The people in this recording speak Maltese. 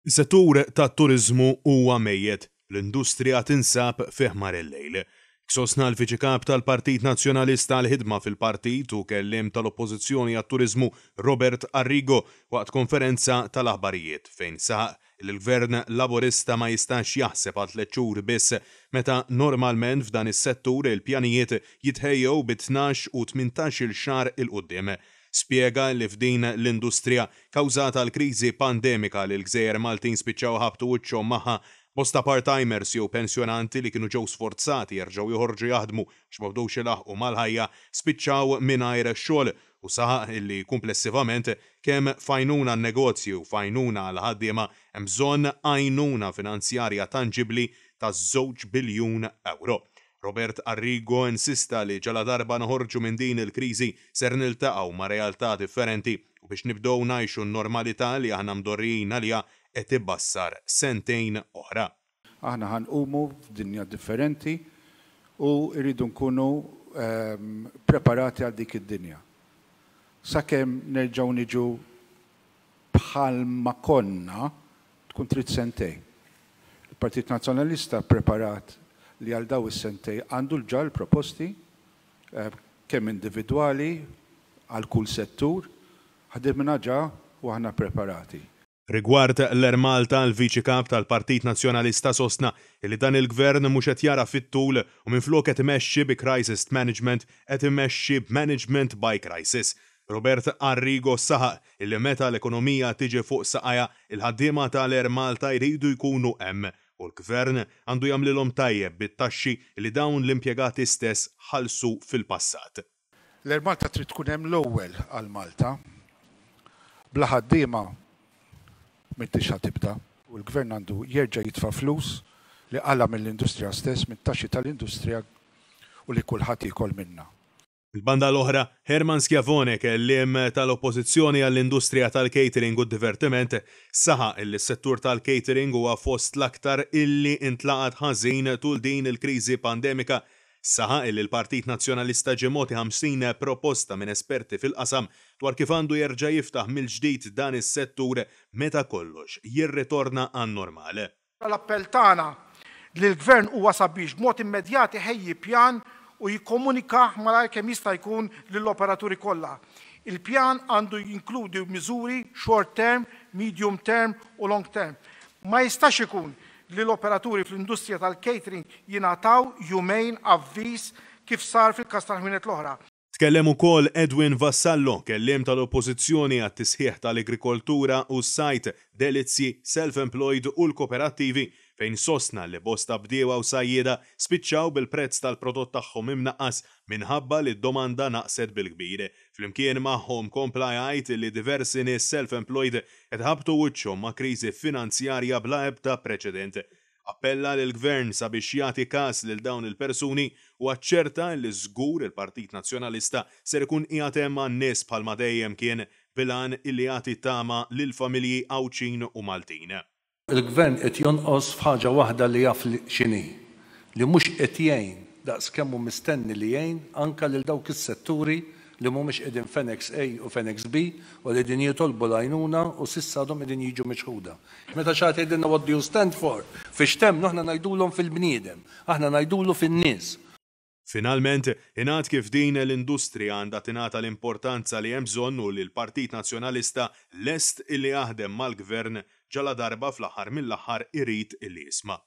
Is-settur tat-turiżmu huwa mejjet, l-industrija tinsab fi ħmar il-lejl. Sostna l-Viċi Kap tal-Partit Nazzjonalista għall-Ħidma fil-Partit u Kelliem tal-Oppożizzjoni għat-Turiżmu Robert Arrigo waqt konferenza tal-aħbarijiet fejn saħaq li l-Gvern Laburista ma jistax jaħseb għal tlett xhur biss meta normalment f'dan is-settur il-pjanijiet jitħejjew bi 12 u 18-il xahar 'il quddiem. Spjega li f'din l-industrija, kawżata l-kriżi pandemika li l-gżejjer Maltin spiċċaw iħabbtu wiċċhom magħha, bosta part-timers jew pensjonanti li kienu ġew sforzati jerġgħu joħorġu jaħdmu għax ma bdewx ilaħħqu mal-ħajja, spiċċaw mingħajr xogħol u saħaq li kumplessivament kemm f'għajnuna għan-negozji u f'għajnuna għall-ħaddiema hemm bżonn għajnuna finanzjarja tanġibbli ta' żewġ biljun ewro. Robert Arrigo insista li ġaladarba noħorġu minn din il-kriżi ser niltaqgħu ma' realtà differenti u biex nibdew ngħixu n-normalità li aħna mdorrijin għaliha qed ibassar sentejn oħra. Aħna ħa nqumu f'dinja differenti u rridu nkunu preparati għal dik id-dinja. Sakemm nerġgħu niġu bħalma konna tkun trid sentejn. Il-Partit Nazzjonalista ppreparat li għal daw is-sentejn għandu ġa l-proposti kemm individwali għal kull settur, ħdimna ġa u aħna preparati. Rigward l-Air Malta, l-Viċi Kap tal-Partit Nazzjonalista sostna li dan il-Gvern mhux qed jara fit-tul u minflok qed imexxi bi crisis management qed imexxi b'management by crisis. Robert Arrigo saħaq illi meta l-ekonomija tiġi fuq saqajha, il-ħaddiema tal-Air Malta jridu jkunu hemm u l-Gvern għandu jagħmlilhom tajjeb bit-taxxi li dawn l-impjegati stess ħallsu fil-passat. L-Air Malta trid tkun hemm l-ewwel għal Malta. Bla ħaddiema m'intix ħa tibda u l-Gvern għandu jerġa' jitfa' flus li qala' mill-industrija stess, mit-taxxi tal-industrija u li kulħadd jiekol minnha. Mill-banda l-oħra, Hermann Schiavone, kelliem tal-Oppożizzjoni għall-industrija tal-catering u d-divertiment, saħaq illi s-settur tal-catering huwa fost l-aktar illi intlaqat ħażin tul din il-kriżi pandemika. Saħaq illi l-Partit Nazzjonalista ġie mogħti 50 proposta minn esperti fil-qasam dwar kif għandu jerġa' jiftaħ mill-ġdid dan is-settur meta kollox jirritorna għan-normal. L-appell tagħna lill-Gvern huwa sabiex b'mod immedjat iħejji pjan u jikkomunikah malajr kemm jista' jkun lill-operaturi kollha. Il-pjan għandu jinkludi miżuri short term, medium term u long term. Ma jistax ikun li l-operaturi fl-industrija tal-catering jingħataw jumejn avviż kif sar fil-każ tal-ħwienet l-oħra. Tkellem ukoll Edwin Vassallo, kelliem tal-Oppożizzjoni għat-tisħiħ tal-agrikoltura u s-sajd, delizzji, self-employed u l-koperattivi fejn sostna li bosta bdiewa u sajjieda spiċċaw bil-prezz tal-prodott tagħhom imnaqqas minħabba li d-domanda naqset bil-kbir. Flimkien magħhom kompla jgħid li diversi nies self-employed qed iħabbtu wiċċhom ma' kriżi finanzjarja bla ebda preċedent. Appella lill-Gvern sabiex jagħti każ lil dawn il-persuni u aċċerta li żgur il-Partit Nazzjonalista ser ikun qiegħed hemm għan-nies bħalma dejjem kien bil-għan illi jagħti tama lill-familji Għawdxin u Maltin. Il-Gvern qed jonqos f'ħaġa waħda li jaf x'inhi, li mhux qed jgħin daqs kemm hu mistenni li jgħin anke lil dawk is-setturi li mhumiex qegħdin f'Annex A u f'Annex B u li qegħdin jitolbu l-għajnuna u s'issa għadhom qegħdin jiġu miċħuda. Meta xi ħadd jgħidilna what do you stand for? Fiex temmnu aħna ngħidulhom fil-bniedem, aħna ngħidulu fin-nies. Finalment, ingħad kif din l-industrija għandha tingħata l-importanza li hemm bżonn u li l-Partit Nazzjonalista lest illi jaħdem mal-Gvern ġaladarba fl-aħħar mill-aħħar irid illi jisma'.